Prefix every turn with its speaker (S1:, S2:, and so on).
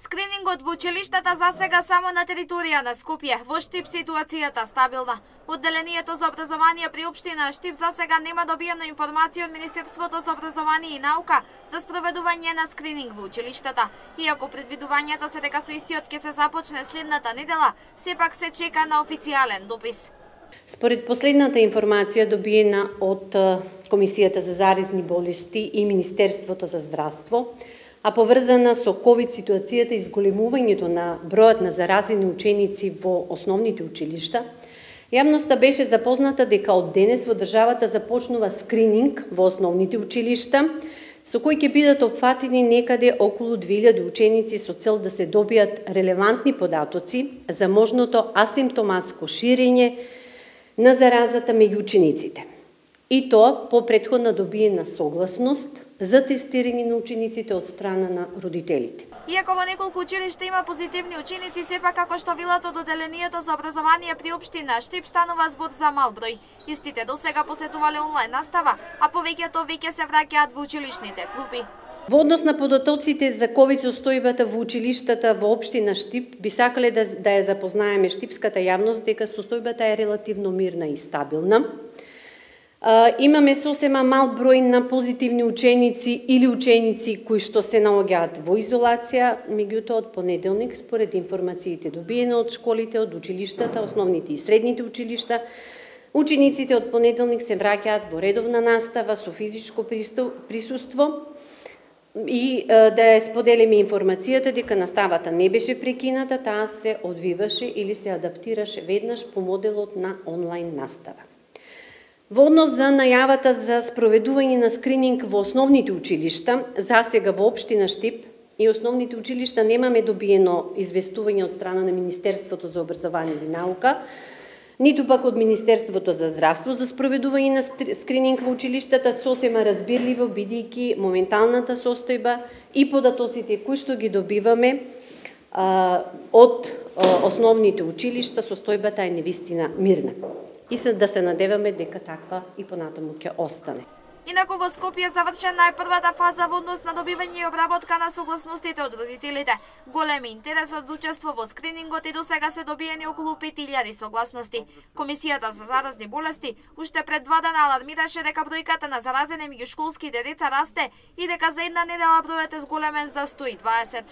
S1: Скринингот во училиштата засега само на територија на Скопје. Во Штип ситуацијата стабилна. Одделението за образование при општина Штип засега нема добиена информација од Министерството за образование и наука за спроведување на скрининг во училиштата. Иако предвидувањата се дека со истиот ќе се започне следната недела, сепак се чека на официјален допис.
S2: Според последната информација добиена од Комисијата за заразни болести и Министерството за здравство, а поврзана со ковид ситуацијата и зголемувањето на бројот на заразени ученици во основните училишта, јавноста беше запозната дека од денес во државата започнува скрининг во основните училишта, со кој ќе бидат опфатени некаде околу 2000 ученици со цел да се добијат релевантни податоци за можното асимптоматско ширење на заразата меѓу учениците. И тоа по претходна добиена согласност за тестирање на учениците од страна на родителите.
S1: Иако во неколку училишта има позитивни ученици, сепак како што велат од Одделението за образование при општина Штип станува збор за мал број. Истите досега посетувале онлайн настава, а повеќето веќе се враќаат во училишните клупи.
S2: Во однос на податоците за ковид состојбата во училиштата во општина Штип, би сакале да ја запознаеме штипската јавност дека состојбата е релативно мирна и стабилна. Имаме сосема мал број на позитивни ученици или ученици кои што се наоѓаат во изолација, меѓутоа од понеделник, според информациите добиени од школите, од училиштата, основните и средните училишта, учениците од понеделник се враќаат во редовна настава со физичко присуство и да ја споделиме информацијата дека наставата не беше прекината, таа се одвиваше или се адаптираше веднаш по моделот на онлайн настава. Во однос за најавата за спроведување на скрининг во основните училишта, засега во општина Штип и основните училишта немаме добиено известување од страна на Министерството за образование и наука, ниту пак од Министерството за здравство за спроведување на скрининг во училиштата, сосема разбирливо бидејќи моменталната состојба и податоците кои што ги добиваме од основните училишта, состојбата е навистина мирна. И да се надеваме дека таква и понатаму ќе остане.
S1: Инаку во Скопје завршена е првата фаза во однос на добивање и обработка на согласностите од родителите. Голем интересот за учество во скринингот и досега се добиени околу 5000 согласности. Комисијата за заразни болести уште пред 2 дена алармираше дека бројката на заразени меѓу школските деца расте и дека за една недела бројот е зголемен за 120.